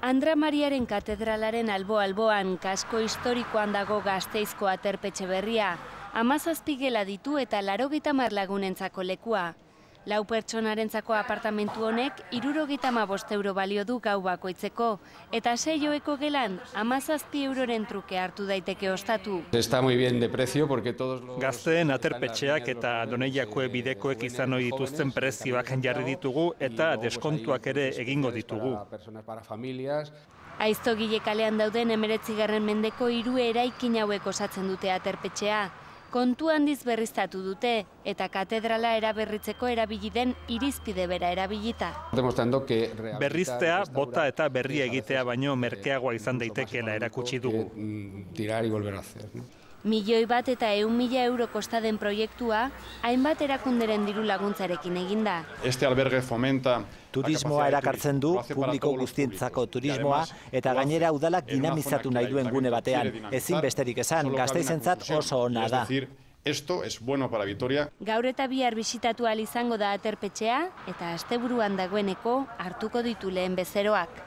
Andra Mariaren katedralaren albo-alboan kasko historikoan dago Gasteizko aterpetxe berria, 17 gela ditu eta 80 lagunentzako lekua. 4 pertsonarentzako apartamentu honek 75 euro balio du gau bakoitzeko, eta 6 gelan 17 euroren truke hartu daiteke ostatu. Está muy bien de precio porque todos los... Gazteen aterpetxeak eta Doneiakoe bidekoek izan ohi dituzten prezioak jarri ditugu eta deskontuak ere egingo ditugu. Aiztogile kalean dauden 19. mendeko 3 eraikin hauek osatzen dute aterpetxea. Kontu handiz berriztatu dute eta katedrala eraberritzeko erabili den irizpide bera erabilita. Berriztea, bota eta berria egitea baino merkeagoa izan daitekeela erakutsi dugu. Milioi bat eta 100.000 euro kosta den proiektua, hainbat erakunderen diru laguntzarekin eginda. Este albergue fomenta turismoa erakartzen du, publiko guztientzako turismoa, eta gainera udalak dinamizatu nahi duen gune batean. Ezin besterik esan, Gasteizentzat oso ona da. Esto es bueno para Vitoria. Gaur eta bihar bisitatu ahal izango da aterpetxea, eta asteburuan dagoeneko hartuko ditu lehen bezeroak.